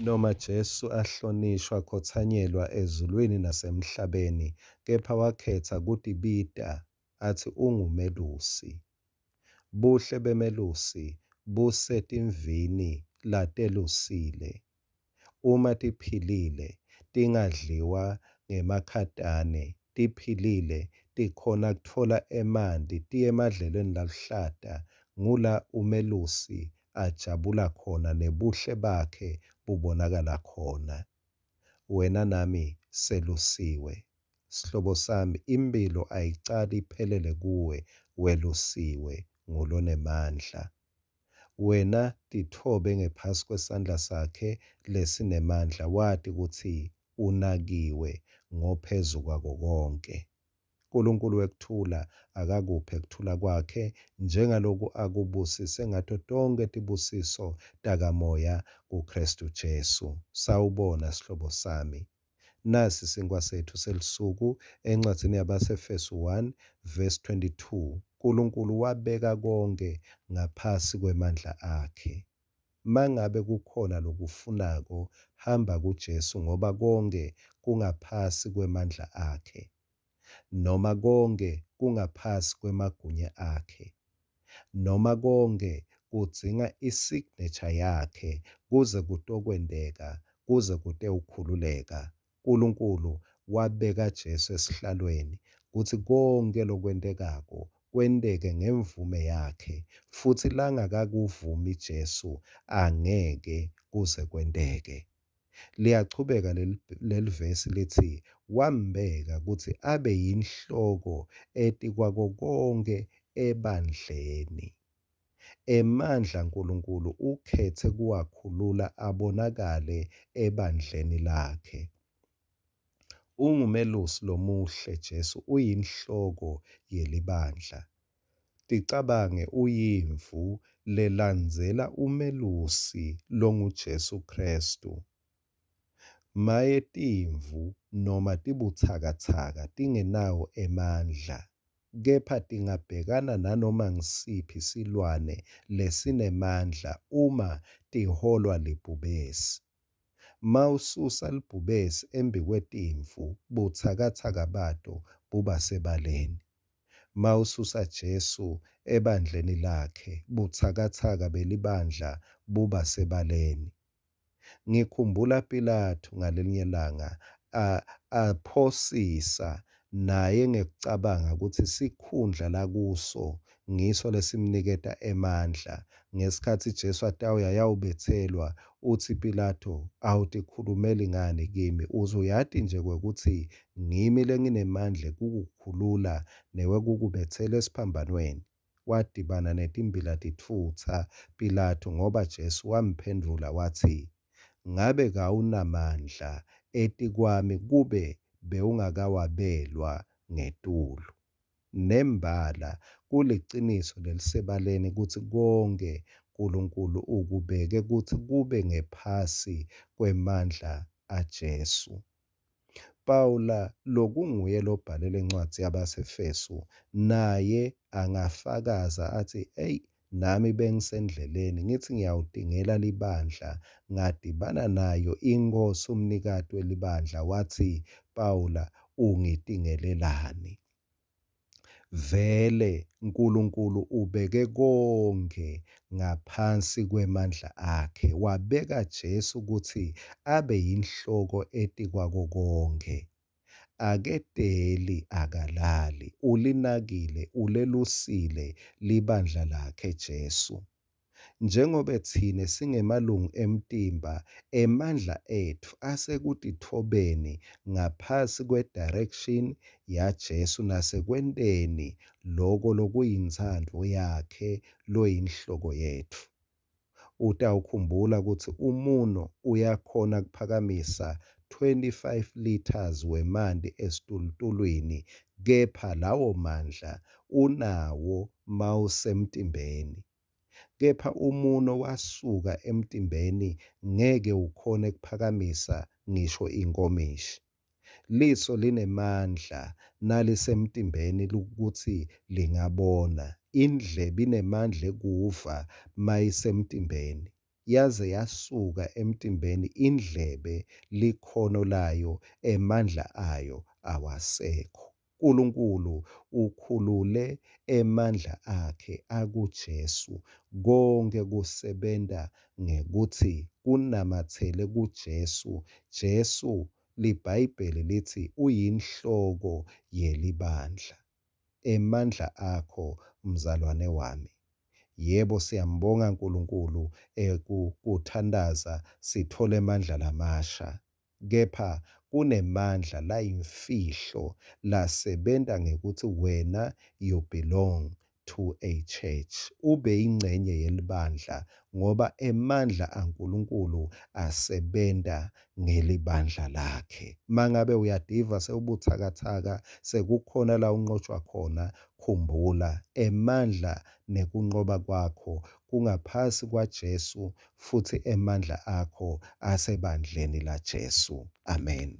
Noma Jesu ahlonishwa akhotsanyelwa ezulwini nasemhlabeni, kepha wakhetsa kutibita atsi ungumelusi. Buhle bemelusi busetimvini latelusile. Uma tiphilile tingadliwa ngemakhataane, tiphilile tikhona kutfola emanti tiye emadlelweni laluhlata, ngula umelusi ajabula khona nebuhle bakhe bubonakala khona. Wena nami selusiwe. Sihlobo sami, imphilo ayicali iphelele kuwe, welusiwe ngulonemandla. Wena titfobe ngephasi kwesandla sakhe lesinemandla wati kutsi unakiwe ngoPhezukwako-konkhe. Nkulunkulu wekuthula akakuphe kuthula kwakhe njengaloku akubusise ngato tonkhe tibusiso takamoya kuKhristu Jesu. Sawubona sihlobo sami. Nasi sinkhwa setfu selusuku encwadzini yabaseEfesu 1 verse 22. Nkulunkulu wabeka konkhe ngaphasi kwemandla akhe. Mangabe kukhona lokufunako hamba kuJesu ngoba konkhe kungaphasi kwemandla akhe. Noma konkhe kungaphasi kwemagunya akhe. Noma konkhe kudzinga isignature yakhe kuze kutokwenteka, kuze kutewukhululeka. Nkulunkulu wabeka Jesu esihlalweni kutsi konkhe lokwentekako kwenteke ngemvume yakhe futsi langakakuvumi Jesu angeke kuze kwenteke. Liyachubeka lelivesi litsi wambeka kutsi abe yinhloko etikwako konkhe ebandleni. Emandla Nkulunkulu ukhetse kuwakhulula abonakale ebandleni lakhe. Ungumelusi lomuhle Jesu uyinhloko yelibandla. Ticabange uyimvu lelandzela umelusi longuJesu Khristu. Maye timvu noma tibutsakatsaka tingenawo emandla, kepha tingabhekana nanoma ngusiphi silwane lesinemandla uma tiholwa libhubesi. Mawususa libhubesi embikwetimvu butsakatsaka bato bubasebaleni. Mawususa Jesu ebandleni lakhe butsakatsaka belibandla bubasebaleni. Ngikhumbula Pilatu ngalelinye langa aphosisa naye ngekucabanga kutsi sikhundla lakuso ngiso lesimniketa emandla. Ngesikhatsi Jesu atawuya ayawubetselwa, utsi Pilato, awutikhulumeli ngani kimi? Uze uyati nje kwekutsi ngimi lenginemandla ekukukhulula newekukubetsela esiphambanweni. Wadibana netimbila titfutsa Pilatu ngoba Jesu wamphendvula watsi, Ngabe kawunamandla etikwami kube bewungakawabelwa ngetulu. Nembala kuliciniso lelisebaleni kutsi konkhe Nkulunkulu ukubeke kutsi kube ngephasi kwemandla aJesu. Pawula lokunguye lobhale lencwadzi yabaseEfesu naye angafakaza atsi, eyi nami bengisendleleni ngitsi ngiyawutingela libandla ngadibana nayo iNkhosi umnikati welibandla watsi, Pawula ungitingelelani? Vele Nkulunkulu ubeke konkhe ngaphansi kwemandla akhe, wabeka Jesu kutsi abe yinhloko etikwako konkhe. Aketeli akalali, ulinakile, ulelusile libandla lakhe Jesu. Njengobe tsine singemalungu emtimba, emandla etfu asekutitfobeni ngaphasi kwe-direction yaJesu nasekwenteni loko lokuyintsandvo yakhe loyinhloko yetfu. Utawukhumbula kutsi umuno uyakhona kuphakamisa 25 litres wemanti esitulutulwini, kepha lawo mandla unawo mawusemtimbeni. Kepha umuno wasuka emtimbeni ngeke ukhone kuphakamisa ngisho inkomishi. Liso linemandla nalisemtimbeni kutsi lingabona, indlebe inemandla ekuva mayisemtimbeni. Yaze yasuka emtimbeni indlebe, likhono layo, emandla ayo awasekho. Nkulunkulu ukhulule emandla akhe akuJesu. Konkhe kusebenta ngekutsi kunamatsele kuJesu. Jesu, liBhayibheli litsi, uyiNhloko yeliBandla. Emandla akho, mzalwane wami. Yebo, siyambonga Nkulunkulu kuthantaza sitfole emandla lamasha. Kepha kunemandla layimfihlo lasebenta ngekutsi wena you belong to a church, ubeyincenye yelibandla ngoba emandla aNkulunkulu asebenta ngelibandla lakhe. Mangabe uyativa sewubutsakatsaka, sekukhona la unqotshwa khona, khumbula emandla nekunqoba kwakho kungaphasi kwaJesu futsi emandla akho asebandleni laJesu. Amen.